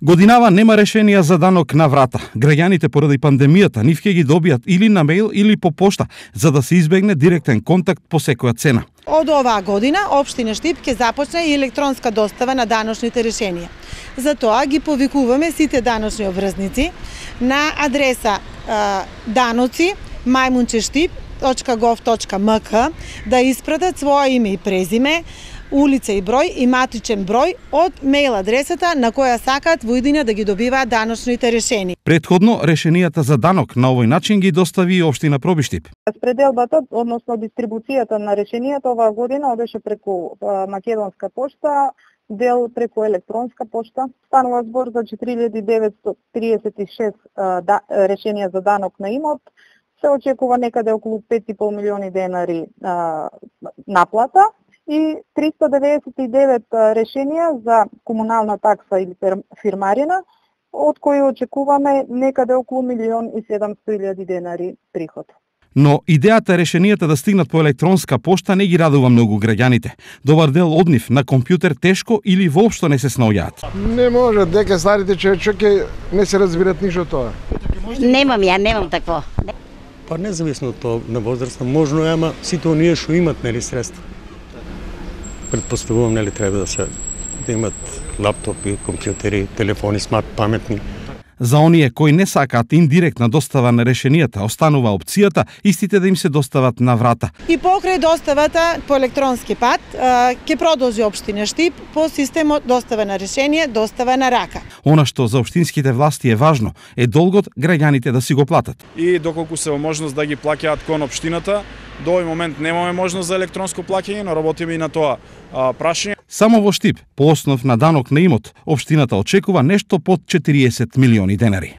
Годинава нема решенија за данок на врата. Граѓаните поради пандемијата нив ќе ги добијат или на мејл или по пошта, за да се избегне директен контакт по секоја цена. Од оваа година Општина Штип ќе започне и електронска достава на даночните решенија. Затоа ги повикуваме сите даночни обврзници на адреса danoci@štip.gov.mk да испратат своје име и презиме, улица и број и матичен број од мејл адресата на која сакаат во иднина да ги добиваат даночните решенија. Претходно, решенијата за данок на овој начин ги достави и Општина Пробиштип. Распределбата, односно дистрибуцијата на решенијата оваа година одеше преку македонска пошта, дел преку електронска пошта. Станува збор за 4936 решенија за данок на имот. Се очекува некаде околу 5,5 милиони денари наплата и 399 решенија за комунална такса или фирмарина, од кои очекуваме некаде околу 1.700.000 денари приход. Но идејата решенијата да стигнат по електронска пошта не ги радува многу граѓаните. Добар дел од нив на компјутер тешко или воопшто не се снаоѓаат. Не може, дека старите човеки не се разбират ништо тоа. Немам такво. Па независно од тоа на возраста, можно е, ама сите оние што имат нели средства. Предпоставувам нели треба да имат лаптопи, компјутери, телефони смарт паметни. За оние кои не сакаат индиректна достава на решенијата, останува опцијата истите да им се достават на врата. И покрај доставата по електронски пат, ќе продолжи Општина Штип по системот достава на решение, достава на рака. Она што за општинските власти е важно е долгот граѓаните да си го платат. И доколку се во можност да ги плаќаат кон општината, до овој момент немаме можност за електронско плаќање, но работиме и на тоа прашање. Само во Штип, по основ на данок на имот, општината очекува нешто под 40 милиони денари.